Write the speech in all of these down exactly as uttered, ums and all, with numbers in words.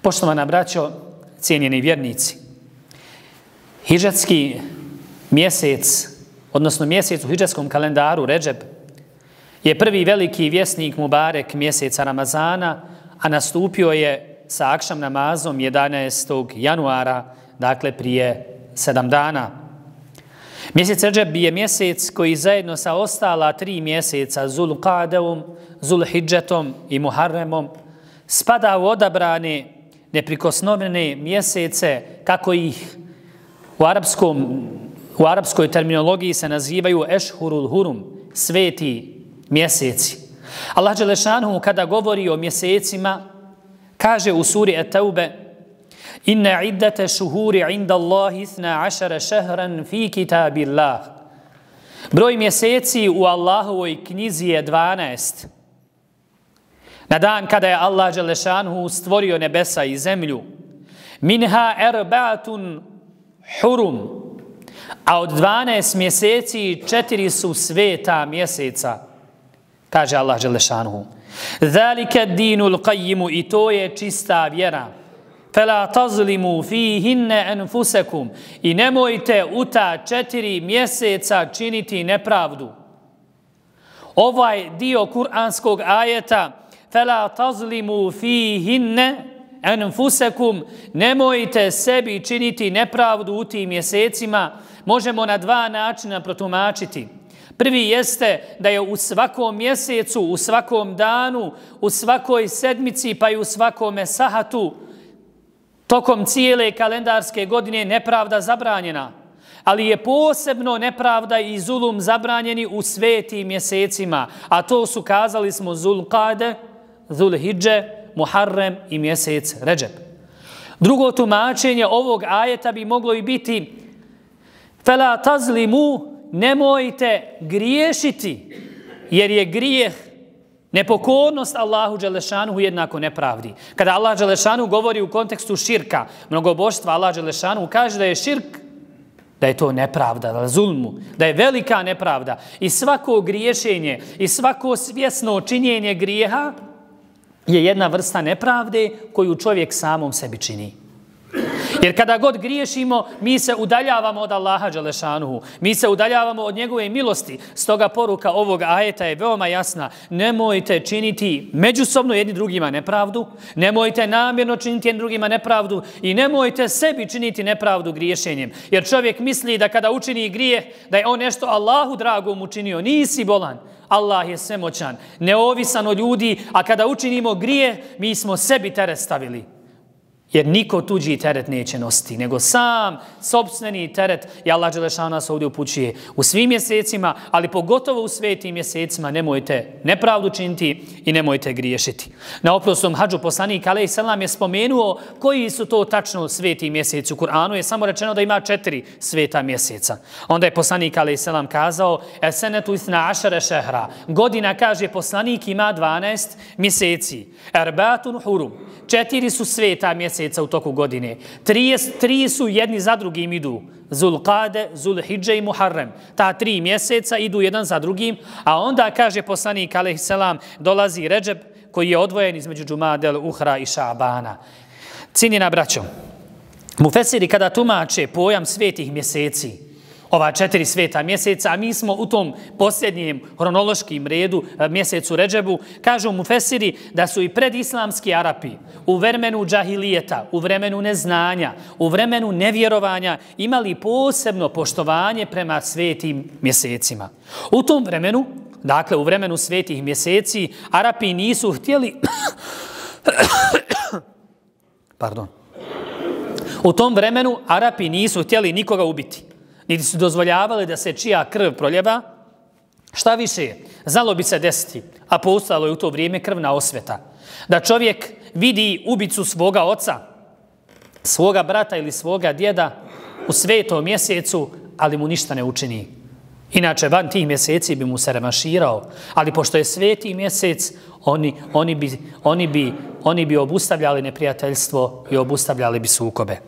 Poštovana braćo, cijenjeni vjernici, hidžetski mjesec, odnosno mjesec u hidžetskom kalendaru Redžeb, je prvi veliki vjesnik Mubarek mjeseca Ramazana, a nastupio je sa akšam namazom jedanaestog januara, dakle prije sedam dana. Mjesec Redžeb je mjesec koji zajedno sa ostala tri mjeseca Zulqadeom, Zulhidžetom i Muharremom spada u odabrane neprikosnovene mjesece, kako ih u, arapskom, u arapskoj terminologiji se nazivaju Ešhurul Hurum, sveti mjeseci. Allah dželešanu kada govori o mjesecima kaže u suri Et-Taube: Inna iddate šuhuri inda Allahi ithna ašara šehran fi kitabillah. Broj mjeseci u Allahovoj knjizi je dvanaest. Na dan kada je Allah dželešanu stvorio nebesa i zemlju, minha erbatun hurum, a od dvanaest mjeseci četiri su sveta mjeseca, kaže Allah dželešanu. Zalika dinul qayimu, i to je čista vjera. Fela tazlimu fihinne anfusakum, i nemojte u ta četiri mjeseca činiti nepravdu. Ovaj dio kuranskog ajeta fela tazlimu fihinne anfusakum, nemojte sebi činiti nepravdu u tim mjesecima, možemo na dva načina protumačiti. Prvi jeste da je u svakom mjesecu, u svakom danu, u svakoj sedmici pa i u svakome sahatu tokom cijele kalendarske godine nepravda zabranjena, ali je posebno nepravda i zulum zabranjeni u svetim mjesecima, a to su, kazali smo, Zulqade, Zulhidže, Muharrem i mjesec Redžeb. Drugo tumačenje ovog ajeta bi moglo i biti fela tazlimu, nemojte griješiti, jer je grijeh nepokornost Allahu dželešanu jednako nepravdi. Kada Allah dželešanu govori u kontekstu širka, mnogoboštva, Allah dželešanu kaže da je širk, da je to nepravda, da je zulmu, da je velika nepravda. I svako griješenje i svako svjesno činjenje grijeha je jedna vrsta nepravde koju čovjek samom sebi čini. Jer kada god griješimo, mi se udaljavamo od Allaha dželešanuhu, mi se udaljavamo od njegove milosti. Stoga poruka ovog ajeta je veoma jasna. Nemojte činiti međusobno jedni drugima nepravdu, nemojte namjerno činiti jedni drugima nepravdu i nemojte sebi činiti nepravdu griješenjem. Jer čovjek misli da kada učini grijeh, da je on nešto Allahu dragom učinio. Nisi bolan. Allah je svemoćan, neovisan od ljudi, a kada učinimo grijeh, mi smo sebi teret stavili. Jer niko tuđi teret neće nositi, nego sam sopstveni teret. I Allah dželešanu nas ovdje upućuje u svim mjesecima, ali pogotovo u svetim mjesecima nemojte nepravdu činiti i nemojte griješiti. Na oprosnom hadžu poslanik alejhi selam je spomenuo koji su to tačno sveti mjeseci. U Kur'anu je samo rečeno da ima četiri sveta mjeseca. Onda je poslanik alejhi selam kazao esenetu isna ašara šehra. Godina, kaže poslanik, ima dvanaest mjeseci. Erbatun hurum. Četiri su sveta mjeseca u toku godine. Tri, tri su jedni za drugim idu. Zulqade, Zulhidže i Muharrem. Ta tri mjeseca idu jedan za drugim, a onda, kaže poslanik alejhi selam, dolazi Redžeb koji je odvojen između Džumadel, Uhra i Šabana. Cijenjena braćo, mufesiri kada tumače pojam svetih mjeseci, ova četiri sveta mjeseca, a mi smo u tom posljednjem hronološkim redu mjesecu Redžebu, kažu mufesiri da su i predislamski Arapi u vremenu džahilijeta, u vremenu neznanja, u vremenu nevjerovanja imali posebno poštovanje prema svetim mjesecima. U tom vremenu, dakle u vremenu svetih mjeseci, Arapi nisu htjeli pardon. U tom vremenu Arapi nisu htjeli nikoga ubiti. Niti su dozvoljavali da se čija krv proljeva. Šta više, znalo bi se desiti, a postojalo je u to vrijeme krvna osveta, da čovjek vidi ubicu svoga oca, svoga brata ili svoga djeda u svetom mjesecu, ali mu ništa ne učini. Inače, van tih mjeseci bi mu se revanširao, ali pošto je sveti mjesec, oni, oni, bi, oni, bi, oni bi obustavljali neprijateljstvo i obustavljali bi sukobe.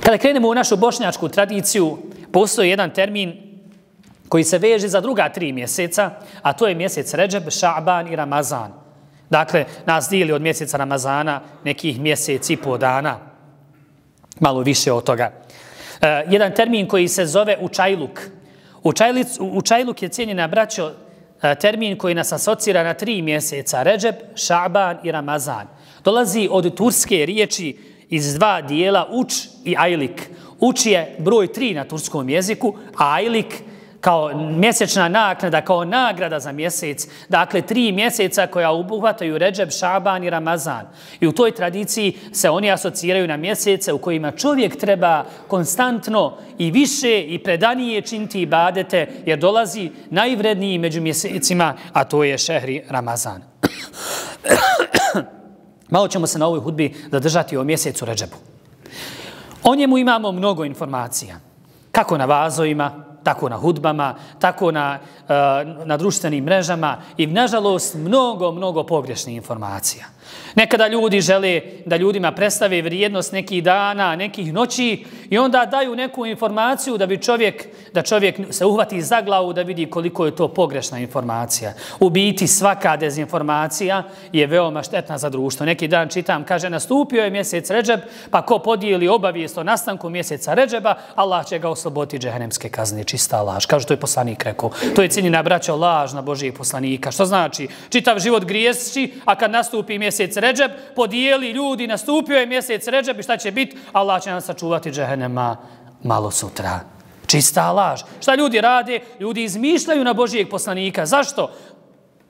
Kada krenemo u našu bošnjačku tradiciju, postoji jedan termin koji se veže za druga tri mjeseca, a to je mjesec Redžeb, Šaban i Ramazan. Dakle, nas dijeli od mjeseca Ramazana nekih mjesec i po dana. Malo više od toga. E, jedan termin koji se zove učajluk. Učajlic, učajluk je, cijenjena braćo, termin koji nas asocira na tri mjeseca. Redžeb, Šaban i Ramazan. Dolazi od turske riječi iz dva dijela uč i ajlik. Uč je broj tri na turskom jeziku, a ajlik kao mjesečna naknada, kao nagrada za mjesec. Dakle, tri mjeseca koja obuhvataju Redžeb, Šaban i Ramazan. I u toj tradiciji se oni asociraju na mjesece u kojima čovjek treba konstantno i više i predanije činiti ibadete, jer dolazi najvredniji među mjesecima, a to je šehri Ramazan. Malo ćemo se na ovoj hudbi zadržati o mjesecu Redžebu. O njemu imamo mnogo informacija. Kako na vazovima, tako na hudbama, tako na, na društvenim mrežama i, nažalost, mnogo, mnogo pogrešnih informacija. Nekada ljudi žele da ljudima predstave vrijednost nekih dana, nekih noći i onda daju neku informaciju da bi čovjek, da čovjek se uhvati za glavu da vidi koliko je to pogrešna informacija. U biti svaka dezinformacija je veoma štetna za društvo. Neki dan čitam, kaže, nastupio je mjesec Redžeb, pa ko podijeli obavijest o nastanku mjeseca Redžeba, Allah će ga osloboditi džehennemske kazne. Čista laž. Kaže, to je poslanik rekao. To je, cijenjena braćo, laž na Božijeg poslanika. Što znači? Čitav život griješi, a kad nastupi mjesec Redžeb, podijeli ljudi, nastupio je mjesec Redžeb i šta će biti? Allah će nam sačuvati džehennema malo sutra. Čista laž. Šta ljudi rade? Ljudi izmišljaju na Božijeg poslanika. Zašto?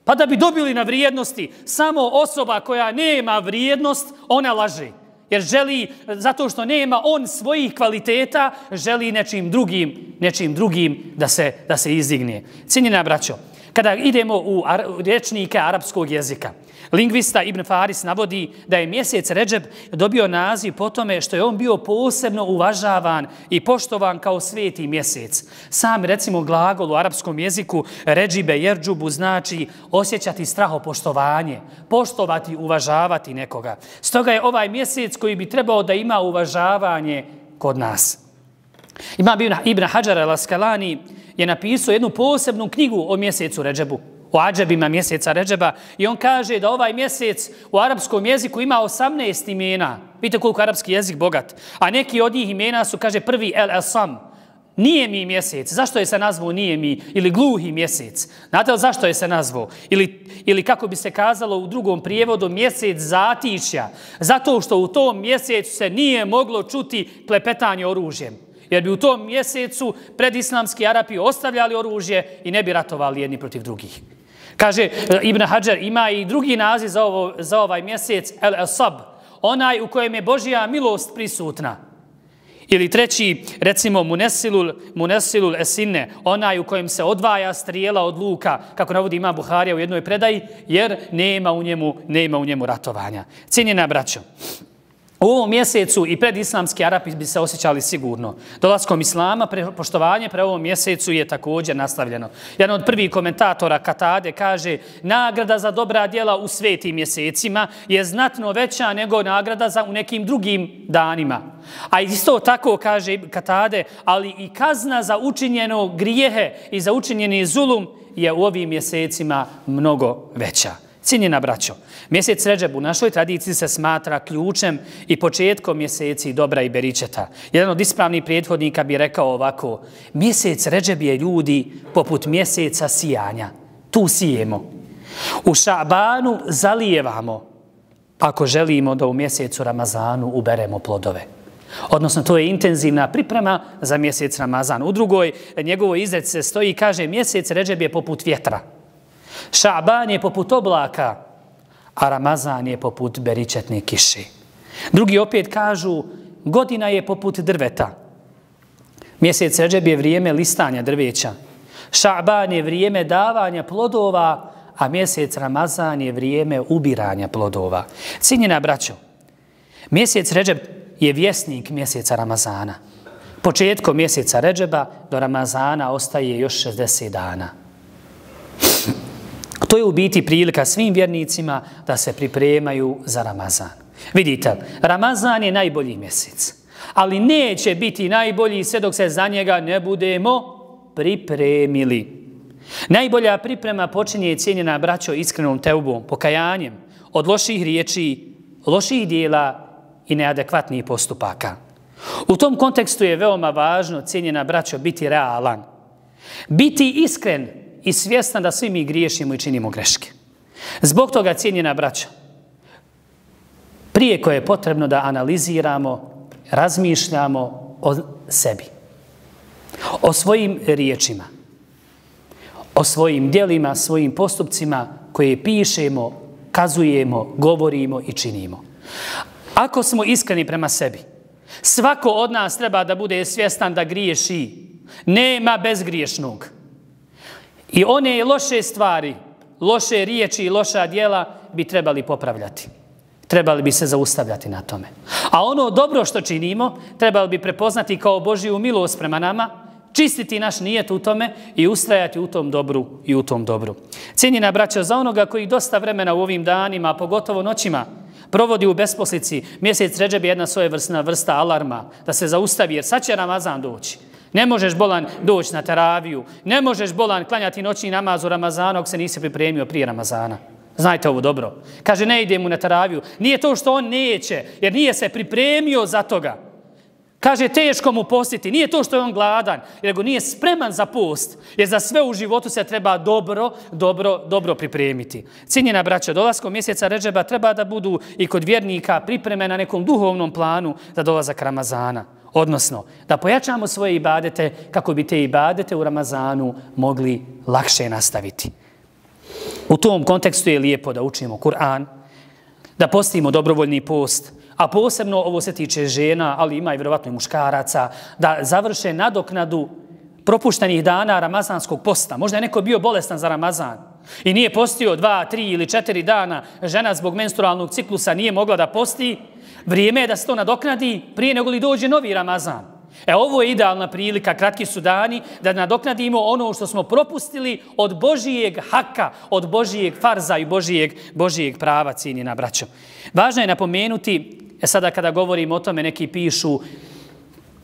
Pa da bi dobili na vrijednosti. Samo osoba koja nema vrijednost, ona laže. Jer želi, zato što nema on svojih kvaliteta, želi nečim drugim, nečim drugim da se, da se izdigne. Cijenjena braćo, kada idemo u rječnike arapskog jezika, lingvista Ibn Faris navodi da je mjesec Redžeb dobio naziv po tome što je on bio posebno uvažavan i poštovan kao sveti mjesec. Sam, recimo, glagol u arapskom jeziku ređibe jerđubu znači osjećati strahopoštovanje, poštovati, uvažavati nekoga. Stoga je ovaj mjesec koji bi trebao da ima uvažavanje kod nas. Imam Ibn Hadžar al-Askalani je napisao jednu posebnu knjigu o mjesecu Redžebu, o adžebima mjeseca Redžeba, i on kaže da ovaj mjesec u arapskom jeziku ima osamnaest imena. Vidite koliko arapski jezik bogat. A neki od njih imena su, kaže, prvi el-Asam. Nije mi mjesec. Zašto je se nazvao nije mi? Ili gluhi mjesec. Znate li zašto je se nazvao? Ili, ili kako bi se kazalo u drugom prijevodu, mjesec zatišja. Zato što u tom mjesecu se nije moglo čuti klepetanje oružjem. Jer bi u tom mjesecu predislamski Arapi ostavljali oružje i ne bi ratovali jedni protiv drugih. Kaže Ibn Hadžar, ima i drugi naziv za, ovo, za ovaj mjesec, el-Asab, onaj u kojem je Božja milost prisutna. Ili treći, recimo, Munesilul, Munesilul Esine, onaj u kojem se odvaja strijela od luka, kako navodi Imam Buharija u jednoj predaji, jer nema u njemu, nema u njemu ratovanja. Cijenjena braćo, u ovom mjesecu i predislamski Arapi bi se osjećali sigurno. Dolaskom islama, pre, poštovanje pre ovom mjesecu je također nastavljeno. Jedan od prvih komentatora Katade kaže, nagrada za dobra djela u svetim mjesecima je znatno veća nego nagrada za u nekim drugim danima. A isto tako kaže Katade, ali i kazna za učinjeno grijehe i za učinjeni zulum je u ovim mjesecima mnogo veća. Cijenjena braćo, mjesec Redžeb u našoj tradiciji se smatra ključem i početkom mjeseci dobra i beričeta. Jedan od ispravnih prethodnika bi rekao ovako, mjesec Redžeb je, ljudi, poput mjeseca sijanja. Tu sijemo. U Šabanu zalijevamo ako želimo da u mjesecu Ramazanu uberemo plodove. Odnosno, to je intenzivna priprema za mjesec Ramazan. U drugoj njegovoj izreci se stoji i kaže, mjesec Redžeb je poput vjetra. Šaban je poput oblaka, a Ramazan je poput beričetne kiše. Drugi opet kažu, godina je poput drveta. Mjesec Redžeb je vrijeme listanja drveća. Šaban je vrijeme davanja plodova, a mjesec Ramazan je vrijeme ubiranja plodova. Cijenjena braćo, mjesec Redžeb je vjesnik mjeseca Ramazana. Početkom mjeseca Redžeba do Ramazana ostaje još šezdeset dana. To je u biti prilika svim vjernicima da se pripremaju za Ramazan. Vidite, Ramazan je najbolji mjesec, ali neće biti najbolji sve dok se za njega ne budemo pripremili. Najbolja priprema počinje, cijenjena braćo, iskrenom teubom, pokajanjem, od loših riječi, loših dijela i neadekvatnih postupaka. U tom kontekstu je veoma važno, cijenjena braćo, biti realan. Biti iskren i svjestan da svi mi griješimo i činimo greške. Zbog toga, cijenjena braćo, prije koje je potrebno da analiziramo, razmišljamo o sebi, o svojim riječima, o svojim djelima, svojim postupcima koje pišemo, kazujemo, govorimo i činimo. Ako smo iskreni prema sebi, svako od nas treba da bude svjestan da griješi. Nema bezgriješnog. I one loše stvari, loše riječi i loša djela bi trebali popravljati. Trebali bi se zaustavljati na tome. A ono dobro što činimo, trebali bi prepoznati kao Božju milost prema nama, čistiti naš nijet u tome i ustrajati u tom dobru i u tom dobru. Cijenjena braćo, za onoga koji dosta vremena u ovim danima, pogotovo noćima, provodi u besposlici, mjesec Redžeb je jedna svojevrsna vrsta alarma da se zaustavi, jer sad će Ramazan doći. Ne možeš bolan doći na teraviju, ne možeš bolan klanjati noćni namaz u Ramazanu ako se nisi pripremio prije Ramazana. Znajte ovo dobro. Kaže, ne ide mu na teraviju. Nije to što on neće, jer nije se pripremio za toga. Kaže, teško mu postiti. Nije to što je on gladan, nego nije spreman za post. Jer za sve u životu se treba dobro, dobro, dobro pripremiti. Cijenjena braća, dolaskom mjeseca Redžeba treba da budu i kod vjernika pripreme na nekom duhovnom planu za dolazak Ramazana. Odnosno, da pojačamo svoje ibadete kako bi te ibadete u Ramazanu mogli lakše nastaviti. U tom kontekstu je lijepo da učimo Kur'an, da postimo dobrovoljni post, a posebno ovo se tiče žena, ali ima i vjerovatno i muškaraca, da završe nadoknadu propuštenih dana ramazanskog posta. Možda je neko bio bolestan za Ramazan i nije postio dva, tri ili četiri dana, žena zbog menstrualnog ciklusa nije mogla da posti, vrijeme je da se to nadoknadi prije nego li dođe novi Ramazan. E, ovo je idealna prilika, kratki su dani, da nadoknadimo ono što smo propustili od Božijeg haka, od Božijeg farza i Božijeg, Božijeg prava, cijenjena braćo. Važno je napomenuti, e sada kada govorimo o tome, neki pišu,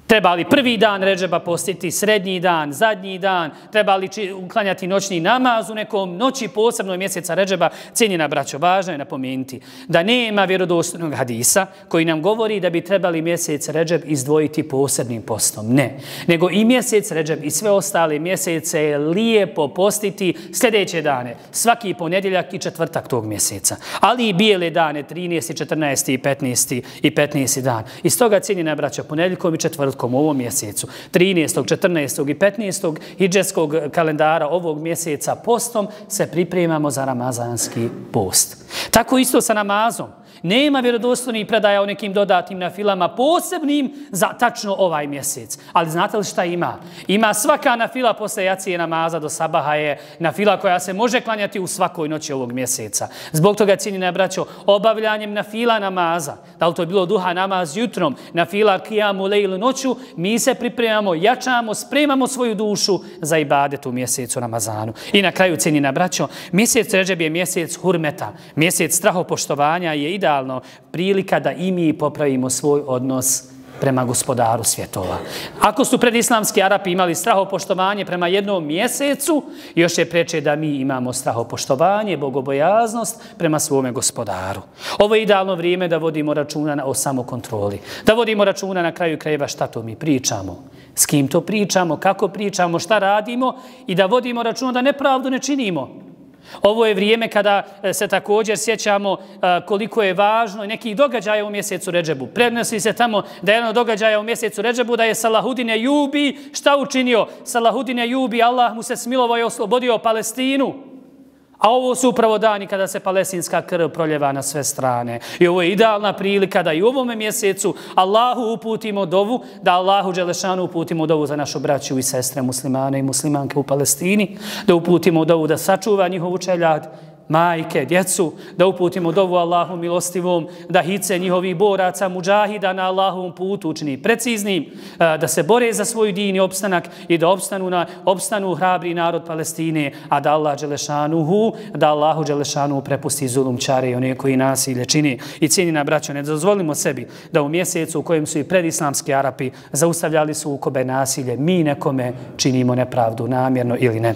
treba li prvi dan Redžeba postiti, srednji dan, zadnji dan, treba li uklanjati noćni namaz u nekom noći posebno mjeseca Redžeba, cijenjena braćo, važno je napomenuti da nema vjerodostojnog hadisa koji nam govori da bi trebali mjesec Redžeb izdvojiti posebnim postom. Ne, nego i mjesec Redžeb i sve ostale mjesece je lijepo postiti sljedeće dane, svaki ponedjeljak i četvrtak tog mjeseca, ali i bijele dane, trinaesti, četrnaesti i petnaesti i petnaesti dan. Iz toga, cijenjena braćo, ponedjeljkom i četvrtkom u ovom mjesecu, trinaestog, četrnaestog i petnaestog hidžetskog kalendara ovog mjeseca postom se pripremamo za ramazanski post. Tako isto sa namazom. Nema vjerodostojnih predaja o nekim dodatnim nafilama posebnim za tačno ovaj mjesec. Ali znate li šta ima? Ima svaka nafila posle jacije namaza do sabaha je nafila koja se može klanjati u svakoj noći ovog mjeseca. Zbog toga, cijenjena braćo, obavljanjem nafila namaza, da li to je bilo duha namaz jutrom, nafila kijamu lejlu noću, mi se pripremamo, jačamo, spremamo svoju dušu za ibadet u mjesecu Ramazanu. I na kraju, cijenjena braćo, mjesec Redžeb je mjesec hurmeta, mjesec strahopoštovanja je idealno prilika da i mi popravimo svoj odnos prema gospodaru svjetova. Ako su predislamski Arapi imali strahopoštovanje prema jednom mjesecu, još je preče da mi imamo strahopoštovanje, bogobojaznost prema svome gospodaru. Ovo je idealno vrijeme da vodimo računa o samokontroli. Da vodimo računa na kraju krajeva šta to mi pričamo, s kim to pričamo, kako pričamo, šta radimo i da vodimo računa da nepravdu ne činimo. Ovo je vrijeme kada se također sjećamo koliko je važno nekih događaja u mjesecu Redžebu. Prenosi se tamo da je jedno događaja u mjesecu Redžebu da je Salahudin Ejubi šta učinio? Salahudin Ejubi, Allah mu se smilovao i oslobodio Palestinu. A ovo su upravo dani kada se palestinska krv proljeva na sve strane. I ovo je idealna prilika da i u ovome mjesecu Allahu uputimo dovu, da Allahu Đelešanu uputimo dovu za našu braću i sestre muslimane i muslimanke u Palestini, da uputimo dovu da sačuva njihovu čeljad, majke, djecu, da uputimo dovu Allahu milostivom, da hice njihovih boraca, muđahida na Allahovom putu učini preciznim, da se bore za svoj din i opstanak i da opstanu, na, opstanu hrabri narod Palestine, a da Allah Đelešanuhu, da Allahu Đelešanu prepusti zulumčare i one koji nasilje čini. I cijenjena braćo, ne dozvolimo sebi da u mjesecu u kojem su i predislamski Arapi zaustavljali sukobe nasilje, mi nekome činimo nepravdu namjerno ili ne.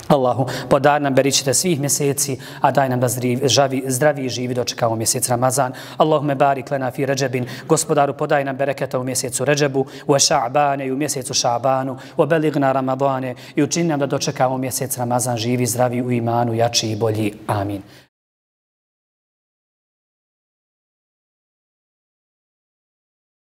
Allahu, podar nam beričite svih mjeseci, a daj nam da zdravi, zdravi i živi dočekamo mjesec Ramazan. Allahume barik lana fi Ređebin, gospodaru podaj nam bereketa u mjesecu Ređebu, u Ša'bane i u mjesecu Ša'banu, u beligna Ramadane i učini nam da dočekamo mjesec Ramazan živi, zdravi u imanu, jači i bolji. Amin.